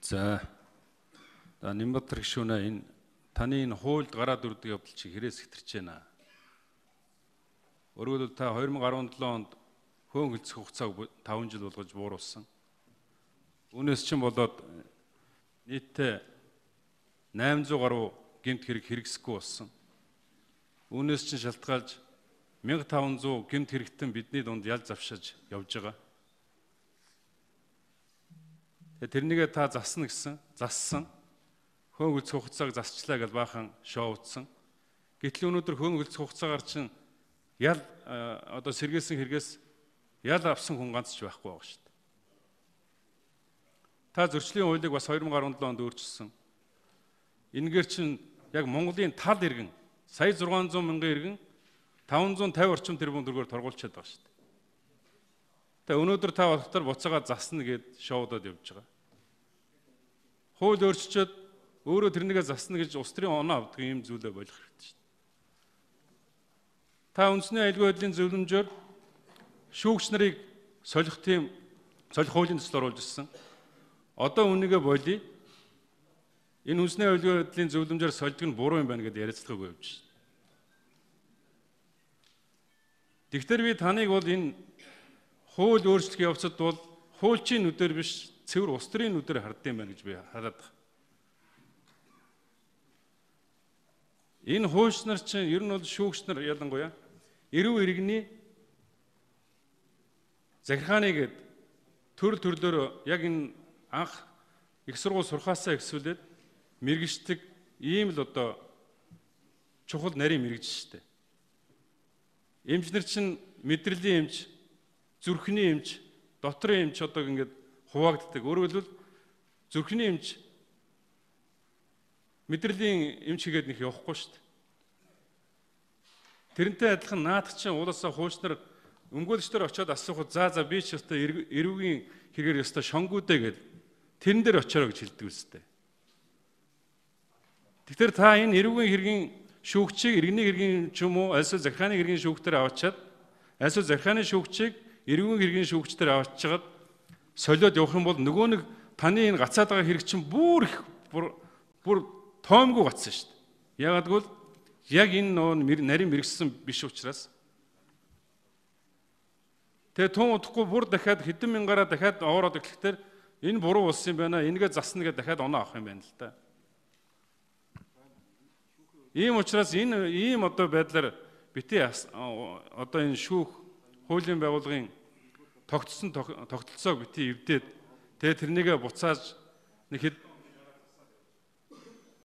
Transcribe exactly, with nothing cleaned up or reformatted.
За Нямбатар гишүүнэ энэ таны энэ хуульд гараад ирдэг явдал чи хэрээс хэтэрч байна. Өөрөөр хэлбэл та two thousand seventeen онд хөөн хөлцөх хугацааг five жил болгож бууруулсан. Үүнээс чинь болоод нийтдээ eight hundred гаруй гэмт хэрэг хэрэгсэхгүй болсон. Үүнээс чинь шалтгаалж fifteen hundred гэмт хэрэгтэн бидний дунд ял завшиж явж байгаа. Тэрнийгээ та засна гэсэн, зассан. Хөөн хөлцөх хугацааг засчлаа гэж баахан шоу утсан. Гэтэл өнөөдөр хөөн хөлцөх хугацаагаар чинь ял одоо сэргээсэн хэрэгээс ял авсан хүн ганц ч байхгүй байгаа шүү дээ. Та зөрчлийн хуулийг бас two thousand seventeen онд өөрчилсөн. Энэгээр чинь яг Монголын тал иргэн сая six hundred мянган иргэн five hundred fifty орчим тэрбум төгрөгөөр торгуулчихад байгаа шүү дээ. Тэгээ өнөөдөр та болохоор буцаага засна гэд шоудод явж байгаа. Хууль өөрчилчихэд өөрөө тэрнийгээ засна гэж улс төрийн оноо авдаг юм зүйлээ болох хэрэгтэй шүү дээ. Та үндэсний аюулгүй байдлын зөвлөмжөөр шүүгч нарыг солих тийм солих хуулийн төсөл оруулж ирсэн. Одоо үнийгээ болий. Энэ үндэсний аюулгүй байдлын зөвлөмжөөр сольдог нь буруу юм байна гэдээ яриацлагыг явж шүү дээ. Тэгэхээр би таныг бол энэ хууль өөрчлөх явцад бол хуульчийн нүдээр биш цэвэр улс төрийн нүдээр хардсан байна гэж би хараад байна. Энэ хуульч нар чинь ер нь бол шүүгч нар ялангуяа эрүү иргэний захиргааны гээд төрөл төрлөөр яг энэ анх их сургууль сурхаасаа ихсүүлээд мэргэждэг ийм л одоо чухал нарийн мэргэж штэ. Эмчнэр чинь мэдрэлийн эмч, зүрхний эмч, дотрын эмч одоо ингээд хуваагддаг. Өөрөөр хэлбэл зүрхний эмч мэдрэлийн эмч хийгээд нэг явахгүй шүү дээ. Тэрнтэй адилхан наадах чинь уулаасаа хуульчнар өмгөөлөгчдөр очиод асуухад за за би ч өстой эрүүгийн хэрэгээр өстой шонгуудэ гээд тэрэн дээр очиороо гэж хэлдэг үстэй. Тэгэхээр та энэ эрүүгийн хэргийн шүүгчийг иргэний хэргийн ч юм уу альсвал захиргааны хэргийн шүүгчдэр аваачаад альсвал захиргааны шүүгчийг эрүүгийн хэргийн шүүгчдэр аваачаад солиод явах юм бол нөгөө нэг таны энэ гацаад байгаа хэрэг чинь бүр их бүр тоомгүй гацсан шүү дээ. Ягаад гэвэл яг энэ нөө нарийн мэрэгсэн биш учраас. Тэгээ тун удахгүй бүр дахиад хэдэн мянгаараа дахиад оороод ирэхээр энэ буруу болсон юм байна. Энийгээ засна гэдээ дахиад оноо авах юм байна л да. Ийм учраас энэ ийм одоо байдлаар бити одоо энэ шүүх хуулийн байгууллагын тогтсон тогтолцоог бити эвдээд тэгээ тэрнийгээ буцааж нэг хэд